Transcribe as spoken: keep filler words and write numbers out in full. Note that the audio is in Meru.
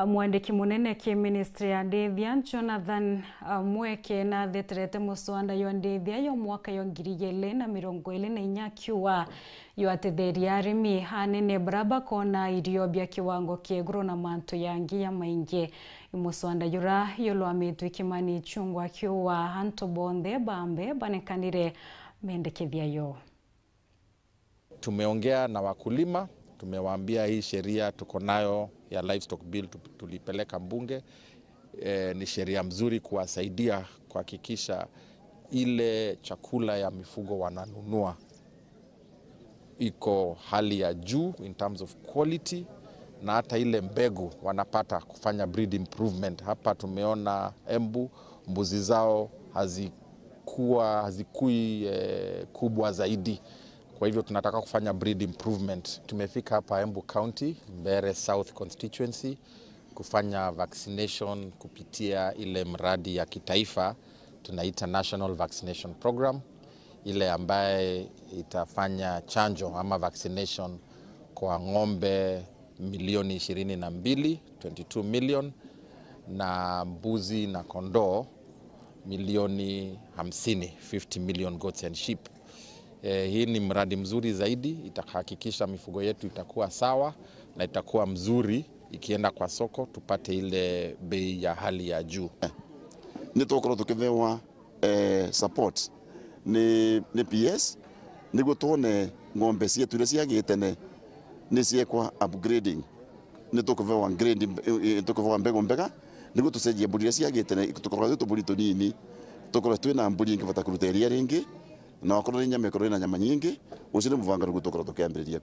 Mwandiki munene ki ministry ya ndithia, Jonathan Mweke, natheterete muswanda jwa ndithia jwa mwaka jwa ngiri igiri na mirongo iri na inya, akiuga jwatetheria arimi anene baria bakona irio bia kiwango kia iguru na mantu jangi jamaingi. I muswanda jura jurwamitwe Kimani Ichung'wah, akiuga antu bonthe baambe banekanire mendekethia yo. Tumeongea na wakulima, tumewaambia hii sheria tuko nayo ya livestock bill tu-, tulipeleka mbunge. E, ni sheria mzuri kuwasaidia kuhakikisha ile chakula ya mifugo wananunua iko hali ya juu in terms of quality, na hata ile mbegu wanapata kufanya breed improvement. Hapa tumeona Embu, mbuzi zao hazikuwa, hazikui, eh, kubwa zaidi. Kwa hivyo tunataka kufanya breed improvement. Tumefika hapa Embu County, Mbeere South Constituency, kufanya vaccination kupitia ile mradi ya kitaifa tunaita National Vaccination Program, ile ambaye itafanya chanjo ama vaccination kwa ng'ombe milioni ishirini na mbili, twenty two million, na mbuzi na kondoo milioni hamsini, fifty million goats and sheep. Eh, hii ni mradi mzuri zaidi, itahakikisha mifugo yetu itakuwa sawa na itakuwa mzuri ikienda kwa soko, tupate ile bei ya hali ya juu. Ni tukorwo tukithewa, eh, support ni, ni P S, niguo twone ng'ombe cietu iria ciagite tene ni ciekwa upgrading. Ni tukuvewa grade, eh, eh, tukuvewa mbegu mbega, niguo tucenjie mburi iria ciagite tene, tukoragwa twi tuburi tunini, tukorwe twina mburi ingivota kuruta iria ringi, na wakorwo ni nyama ikorwo ina nyama nyingi. Ucio ni muvangaruku tukorwo tukiambiriria.